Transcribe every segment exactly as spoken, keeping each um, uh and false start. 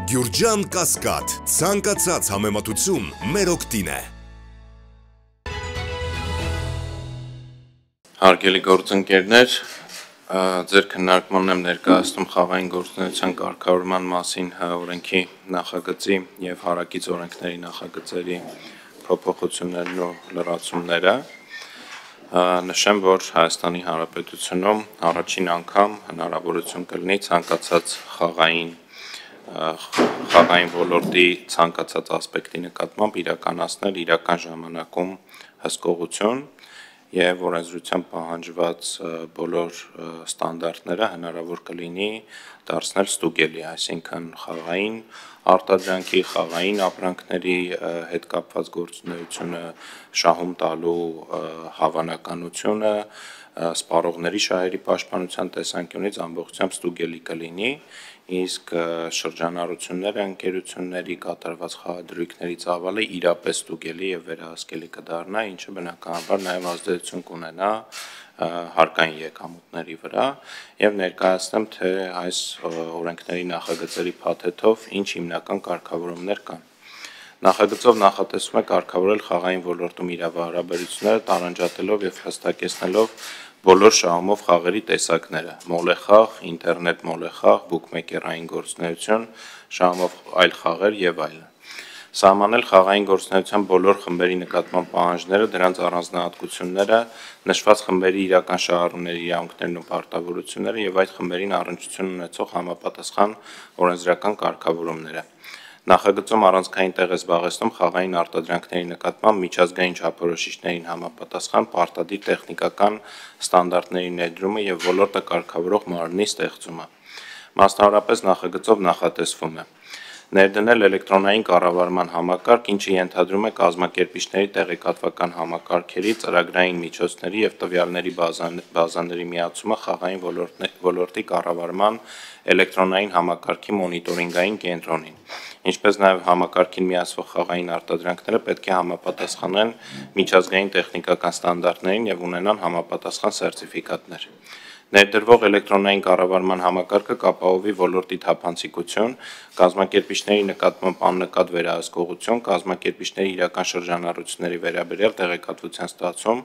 Գյուրջան Կասկադ, ցանկացած համեմատություն մեր օգտին է։ Հարգելի գործընկերներ, ձեր քննարկմանն եմ ներկայացնում խաղային գործունեության կարգավորման մասին օրենքի նախագծի եւ հարակից օրենքների նախագծերի փոփոխություններն ու լրացումները։ Նշեմ, որ Հայաստանի Հանրապետությունում առաջին անգամ հնարավորություն կլինի ցանկացած խաղային խաղային ոլորտի ցանկացած ասպեկտի նկատմամբ իրականացնել իրական ժամանակում հսկողություն եւ օրենսդրությամբ պահանջված բոլոր ստանդարտները հնարավոր կլինի դարձնել ստուգելի, այսինքն խաղային արտադրանքի, խաղային ապրանքների հետ կապված գործունեությունը, շահում տալու հավանականությունը, սպառողների շահերի պաշտպանության տեսանկյունից ամբողջությամբ ստուգելի կլինի, իսկ շրջանառությունները ընկերությունների կատարված խաղադրույքների ծավալը իրապես ստուգելի եւ վերահսկելի կդառնա, ինչը բնականաբար նաեւ ազդեցություն կունենա հարկային եկամուտների վրա եւ ներկայացնեմ, թե այս օրենքների նախագծերի փաթեթով ինչ հիմնական կարգավորումներ կան։ Նախագծով նախատեսվում է կարգավորել խաղային ոլորտում իրավահարաբերությունները տարանջատելով եւ հստակեցնելով բոլոր շահումով խաղերի տեսակները՝ մոլեխաղ, ինտերնետ մոլեխաղ, բուքմեյքերային գործունեություն, շահումով այլ խաղեր եւ այլն։ Սահմանել խաղային գործունեության բոլոր խմբերի նկատմամբ պահանջները, դրանց առանձնահատկությունները, նշված խմբերի իրական շահառուների իրավունքներն ու պարտավորությունները եւ այդ խմբերին առնչություն ունեցող համապատասխան օրենսդրական կարգավորումները։ Նախագծում առանցքային տեղ է զբաղեցնում խաղային արտադրանքների նկատմամբ միջազգային չափորոշիչներին համապատասխան պարտադիր տեխնիկական ստանդարտների ներդրումը եւ ոլորտը կարգավորող մարմնի ստեղծումը։ Մասնավորապես նախագծով նախատեսվում է ներդնել էլեկտրոնային կառավարման համակարգ, ինչը ենթադրում է կազմակերպիչների տեղեկատվական համակարգերի, ծրագրային միջոցների եւ տվյալների բազաների միացումը խաղային ոլորտի կառավարման էլեկտրոնային համակարգի մոնիտորինգային կենտրոնին, ինչպես նաեւ համակարգին միացվող խաղային արտադրանքները պետք է համապատասխանեն միջազգային տեխնիկական ստանդարտներին եւ ունենան համապատասխան սերտիֆիկատներ։ Ներդրվող էլեկտրոնային կառավարման համակարգը կապահովի ոլորտի թափանցիկություն, կազմակերպիչների նկատմամբ աննկատ վերահսկողություն, կազմակերպիչների իրական շրջանառությունների վերաբերյալ տեղեկատվության ստացում,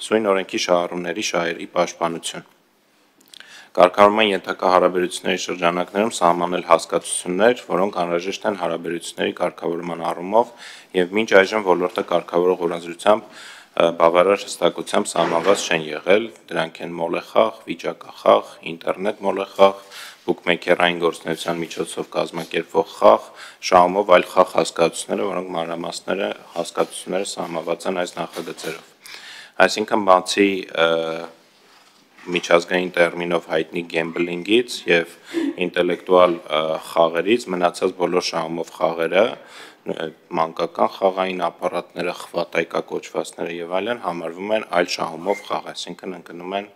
սույն օրենքի շահառուների շահերի պաշտպանություն։ Կարգավորման ենթակա հարաբերությունների շրջանակներում սահմանել հասկացություններ, որոնք անհրաժեշտ են հարաբերությունների կարգավորման առումով եւ մինչ այժմ ոլորտը կարգավորող օրենսդրությամբ բավարար հստակությամբ սահմանված չեն եղել, դրանք են մոլեխաղ, վիճակախաղ, ինտերնետ մոլեխաղ, բուքմեյքերային գործունեության միջոցով կազմակերպվող խաղ, շահումով այլ խաղ հասկացությունները, որոնք մանրամասները հասկացությունները սահմանված են այս նախագծերով։ Այսինքն բացի միջազգային տերմինով հայտնի գեմբլինգից եւ ինտելեկտուալ խաղերից մնացած բոլոր շահումով խաղերը, մանկական խաղային ապարատները, խվատայկա կոչվածները եւ այլն համարվում են այլ շահումով խաղ, այսինքն ընկնում են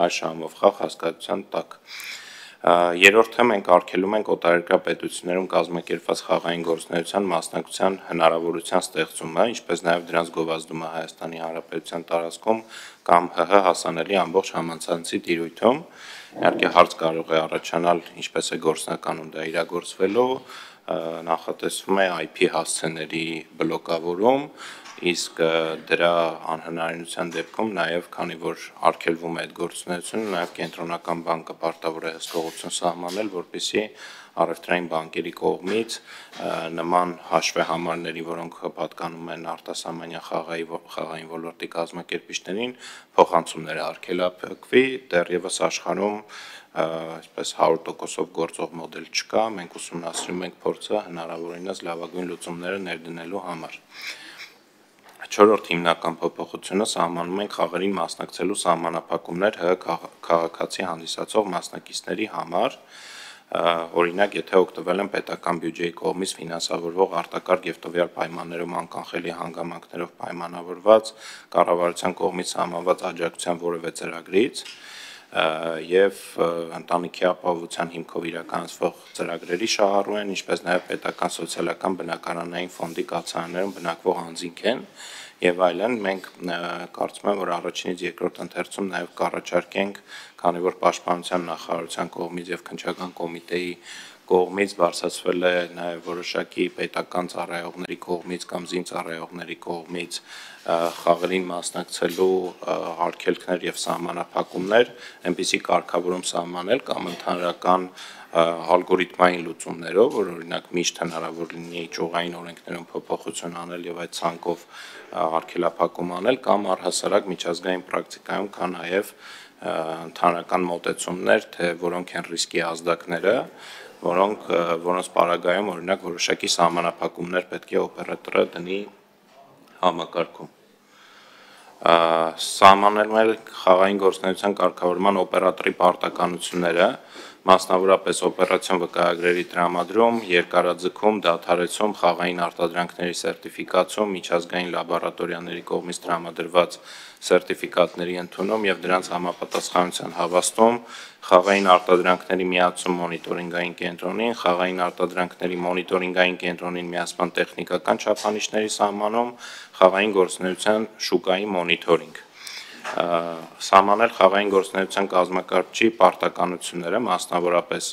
այլ շահումով խաղ հասկացության տակ։ Երրորդը մենք արգելում ենք օտարերկրյա պետություններում կազմակերպված խաղային գործունեության մասնակցության հնարավորության ստեղծումը, ինչպես նաեւ դրանց գովազդումը Հայաստանի Հանրապետության տարածքում կամ ՀՀ հասանելի ամբողջ համացանցի տիրույթում, իհարկե հարց կարող է առաջանալ, ինչպես է գործնականում դա իրագործվելու, նախատեսվում է այ փի հասցեների բլոկավորում, իսկ դրա անհնարինության դեպքում նաեւ քանի որ արգելվում է այդ գործունեությունը, նաեւ կենտրոնական բանկը պարտավոր է հսկողություն սահմանել, որպեսզի առևտրային բանկերի կողմից նման հաշվեհամարների, որոնք պատկանում են արտասահմանյան խաղային ոլորտի կազմակերպիչներին, փոխանցումները արգելափակվի, դեռևս աշխարհում այսպես հարյուր տոկոսով գործող մոդել չկա, մենք ուսումնասիրում ենք փորձը հնարավորինս լավագույն լուծումները ներդնելու համար։ Չորրորդ հիմնական փոփոխությունը սահմանում ենք խաղերին մասնակցելու սահմանափակումներ ՀՀ քաղաքացի հանդիսացող մասնակիցների համար, օրինակ, եթե օգտվել են պետական բյուջեի կողմից ֆինանսավորվող արտակարգ եւ տվյալ պայմաններում անկանխելի հանգամանքներով պայմանավորված կառավարության կողմից սահմանված աջակցության որևէ ծրագրից եւ ընտանիքի ապահովության հիմքով իրականացվող ծրագրերի շահառու են, ինչպես նաեւ պետական սոցիալական բնակարանային ֆոնդի կացարաններում բնակվող անձինք են եւ այլն, մենք կարծում եմ, որ առաջինից երկրորդ ընթերցում նաեւ կառաջարկենք, քանի որ պաշտպանության նախարարության կողմից եւ քննչական կոմիտեի կողմից, բարձրացվել է նաև որոշակի պետական ծառայողների կողմից կամ զինծառայողների կողմից խաղերին մասնակցելու արգելքներ եւ սահմանափակումներ, այնպիսի կարգավորում սահմանել կամ ընդհանրական ալգորիթմային լուծումներով, որ օրինակ միշտ հնարավոր լինի ճյուղային օրենքներում փոփոխություն անել եւ այդ ցանկով արգելափակում անել կամ առհասարակ միջազգային պրակտիկայում կա նաեւ ընդհանրական մոտեցումներ, թե որոնք են ռիսկի ազդակները, որոնք որոնց պարագայում օրինակ որոշակի սահմանափակումներ պետք է օպերատորը դնի համակարգում։ Սահմանել խաղային գործունեության կարգավորման օպերատորի պարտականությունները, մասնավորապես օպերացիոն վկայագրերի տրամադրում, երկարաձգում, դադարեցում, խաղային արտադրանքների սերտիֆիկացում, միջազգային լաբորատորիաների կողմից տրամադրված սերտիֆիկատների ընդունում եւ դրանց համապատասխանության հավաստում, խաղային արտադրանքների միացում մոնիտորինգային կենտրոնին, խաղային արտադրանքների մոնիտորինգային կենտրոնին միացման տեխնիկական չափանիշների սահմանում, խաղային գործունեության շուկայի մոնիտորինգ։ Սահմանել խաղային գործունեության կազմակերպչի պարտականությունները, մասնավորապես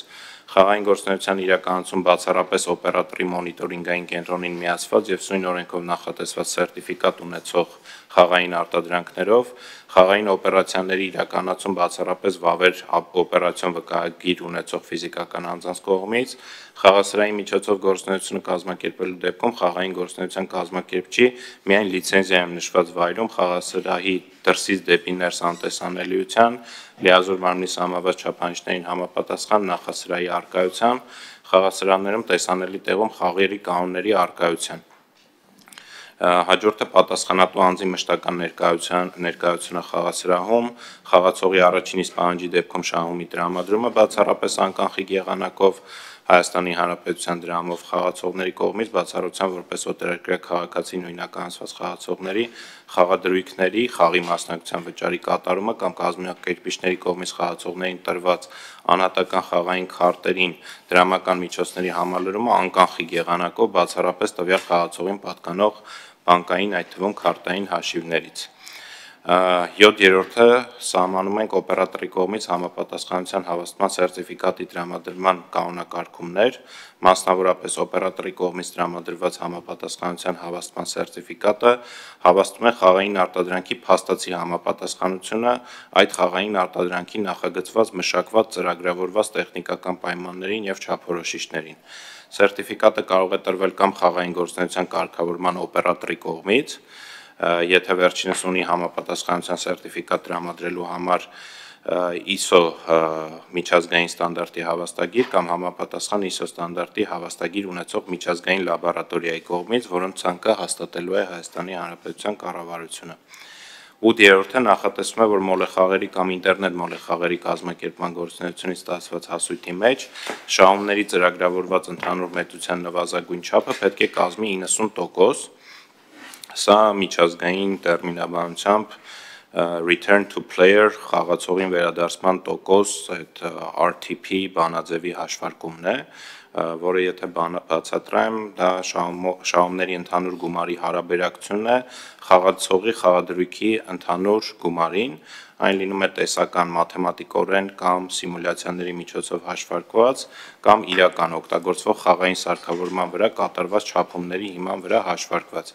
խաղային գործունեության իրականացում բացառապես օպերատորի մոնիտորինգային կենտրոնին միացված եւ սույն օրենքով նախատեսված սերտիֆիկատ ունեցող խաղային արտադրանքներով, խաղային օպերացիաների իրականացում բացառապես վավեր օպերացիոն վկայագիր ունեցող ֆիզիկական անձանց կողմից, խաղասրահի միջոցով գործունեությունը կազմակերպելու դեպքում խաղային գործունեության կազմակերպչի միայն լիցենզիայում նշված վայրում խաղասրահի դրսից դեպի ներս անտեսանելիության, լիազոր մարմնի սահմանված չափանիշներին համապատասխան նախասրահի առկայության, խաղասրահներում տեսանելի տեղում խաղերի կանոնների առկայության։ Հաջորդը պատասխանատու անձի մշտական ներկայության ներկայությունը խաղասրահում, խաղացողի առաջին իսկ պահանջի դեպքում շահումի տրամադրումը բացառապես անկանխիկ եղանակով, Հայաստանի Հանրապետության դրամով խաղացողների կողմից բացառության որպես օտարերկրյա քաղաքացի նույնականացված խաղացողների խաղադրույքների, խաղի մասնակցության վճարի կատարումը կամ կազմակերպիչների կողմից խաղացողներին տրված անհատական խաղային քարտերին դրամական միջոցների համալրումը անկանխիկ եղանակով բացառապես տվյալ խաղացողին պատկանող բանկային, այդ թվում քարտային հաշիվներից։ յոթերորդը սահմանում ենք օպերատորի կողմից համապատասխանության հավաստման սերտիֆիկատի տրամադրման կանոնակարգումներ, մասնավորապես օպերատորի կողմից տրամադրված համապատասխանության հավաստման սերտիֆիկատը հավաստում է խաղային արտադրանքի փաստացի համապատասխանությունը այդ խաղային արտադրանքի նախագծված, մշակված, ծրագրավորված տեխնիկական պայմաններին եւ չափորոշիչներին։ Սերտիֆիկատը կարող է տրվել կամ խաղային գործունեության կարգավորման օպերատորի կողմից, եթե վերջինս ունի համապատասխանության սերտիֆիկատ տրամադրելու համար I S O միջազգային ստանդարտի հավաստագիր կամ համապատասխան I S O ստանդարտի հավաստագիր ունեցող միջազգային լաբորատորիայի կողմից, որոնց ցանկը հաստատելու է Հայաստանի Հանրապետության կառավարությունը։ ութերորդը նախատեսվում է, որ մոլեխաղերի կամ ինտերնետ մոլեխաղերի կազմակերպման գործունեությունից ստացված հասույթի մեջ շահումների ծրագրավորված ընդհանուր մեծության նվազագույն չափը պետք է կազմի իննսուն տոկոս, սա միջազգային տերմինաբանությամբ return to player խաղացողին վերադարձման տոկոս, այդ R T P բանաձևի հաշվարկումն է, որը եթե բացատրեմ, դա շահումների ընդհանուր գումարի հարաբերակցությունն է խաղացողի խաղադրույքի ընդհանուր գումարին, այն լինում է տեսական մաթեմատիկորեն կամ սիմուլյացիաների միջոցով հաշվարկված կամ իրական օգտագործվող խաղային սարքավորման վրա կատարված չափումների հիման վրա հաշվարկված,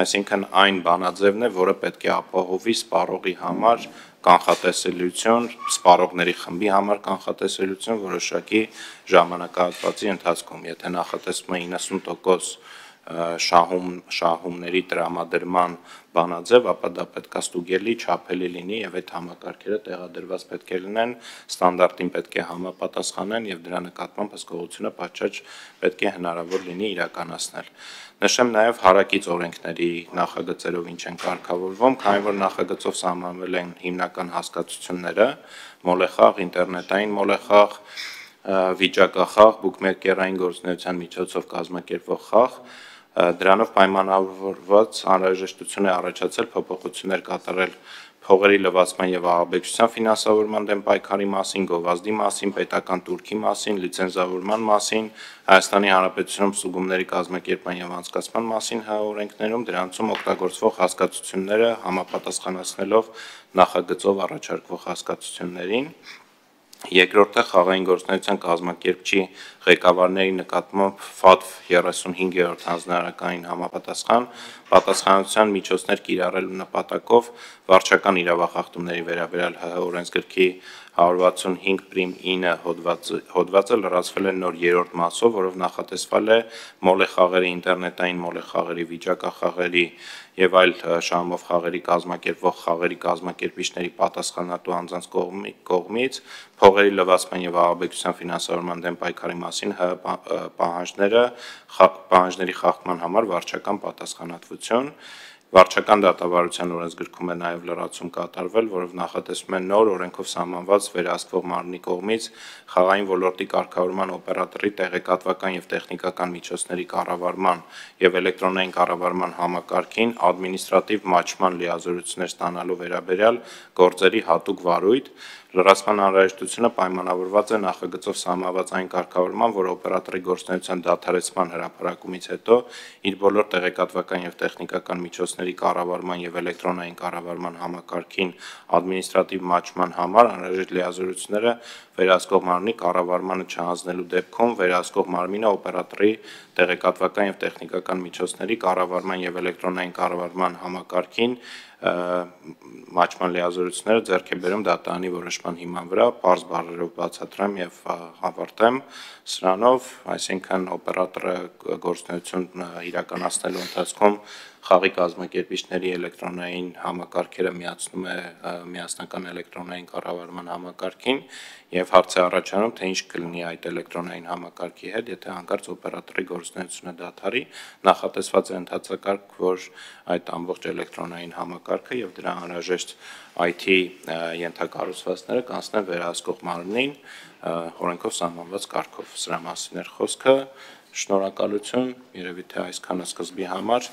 այսինքն այն բանաձևն է, որը պետք է ապահովի սպառողի համար կանխատեսելիություն, սպառողների խմբի համար կանխատեսելիություն որոշակի ժամանակահատվածի ընթացքում, եթե նախատեսվում է իննսուն տոկոս շահում շահումների տրամադրման բանաձև, ապա դա պետք է ստուգելի, չափելի լինի եւ այդ համակարգերը տեղադրված պետք է լինեն, ստանդարտին պետք է համապատասխանեն եւ դրա նկատմամբ հսկողությունը պատշաճ պետք է հնարավոր լինի իրականացնել։ Նշեմ նաեւ հարակից օրենքների նախագծերով ինչ են կարգավորվում, քանի որ նախագծով սահմանվել են հիմնական հասկացությունները՝ մոլեխաղ, ինտերնետային մոլեխաղ, վիճակախաղ, բուկմեկերային գործունեության միջոցով կազմակերպվող խաղ, դրանով պայմանավորված անհրաժեշտություն է առաջացել փոփոխություններ կատարել փողերի լվացման եւ ահաբեկչության ֆինանսավորման դեմ պայքարի մասին, գովազդի մասին, պետական турքի մասին, լիցենզավորման մասին, Հայաստանի Հանրապետությունում ստուգումների կազմակերպման եւ անցկացման մասին օրենքներում, դրանցում օգտագործվող հասկացությունները համապատասխանեցնելով նախագծով առաջարկվող հասկացություններին, Երկրորդը խաղային գործունեության կազմակերպչի ղեկավարների նկատմամբ ՖԱՏՎ երեսունհինգերորդ հանձնարարականին համապատասխան պատասխանատվության միջոցներ կիրառելու նպատակով վարչական իրավախախտումների վերաբերյալ ՀՀ օրենսգրքի հարյուր վաթսունհինգ պրիմ ինը հոդվածը լրացվել է նոր երրորդ մասով, որով նախատեսվել է մոլեխաղերի, ինտերնետային մոլեխաղերի, վիճակախաղերի եւ այլ շահումով խաղերի կազմակերպվող խաղերի կազմակերպիչների պատասխանատու անձանց կողմից փողերի լվացման եւ ահաբեկչության ֆինանսավորման դեմ պայքարի մասին ՀՀ պահանջները պահանջների խախտման համար վարչական պատասխանատվություն Վարչական դատավարության օրենսգրքում է նաև լրացում կատարվել, որով նախատեսվում է նոր օրենքով սահմանված վերահսկվող մարմնի կողմից խաղային ոլորտի կարգավորման օպերատորի տեղեկատվական եւ տեխնիկական միջոցների կառավարման եւ էլեկտրոնային կառավարման համակարգին ադմինիստրատիվ մաչման լիազորություններ ստանալու վերաբերյալ գործերի հատուկ վարույթ Լրացման անհրաժեշտությունը պայմանավորված է նախագծով սահմանված այն կարգավորման, որ օպերատորի գործունեության դադարեցման հրապարակումից հետո իր բոլոր տեղեկատվական եւ տեխնիկական միջոցների կառավարման եւ էլեկտրոնային կառավարման համակարգին ադմինիստրատիվ մաչման համար անհրաժեշտ լիազորությունները վերահսկող մարմնի կառավարմանը չհանձնելու դեպքում վերահսկող մարմինը օպերատորի տեղեկատվական եւ տեխնիկական միջոցների կառավարման եւ էլեկտրոնային կառավարման համակարգին մաչման լիազորությունները ձեռք է բերում դատարանի որոշման հիման վրա, պարզ բառերով բացատրեմ եւ հավարտեմ սրանով, այսինքն օպերատորը գործունեություն իրականացնելու ընթացքում խաղի կազմակերպիչների էլեկտրոնային համակարգերը միացնում է միասնական էլեկտրոնային կառավարման համակարգին եւ հարց է առաջանում, թե ինչ կլինի այդ էլեկտրոնային համակարգի հետ, եթե հանկարծ օպերատորի գործունեությունը դադարի, նախատեսված է ընթացակարգ, որ այդ ամբողջ էլեկտրոնային համակարգը եւ դրա անհրաժեշտ I T ենթակառուցվածքները կանցնեն վերահսկող մարմնին օրենքով սահմանված կարգով։ Սրա մասին էր խոսքը։ Շնորհակալություն, երևի թե այսքանը սկզբի համար։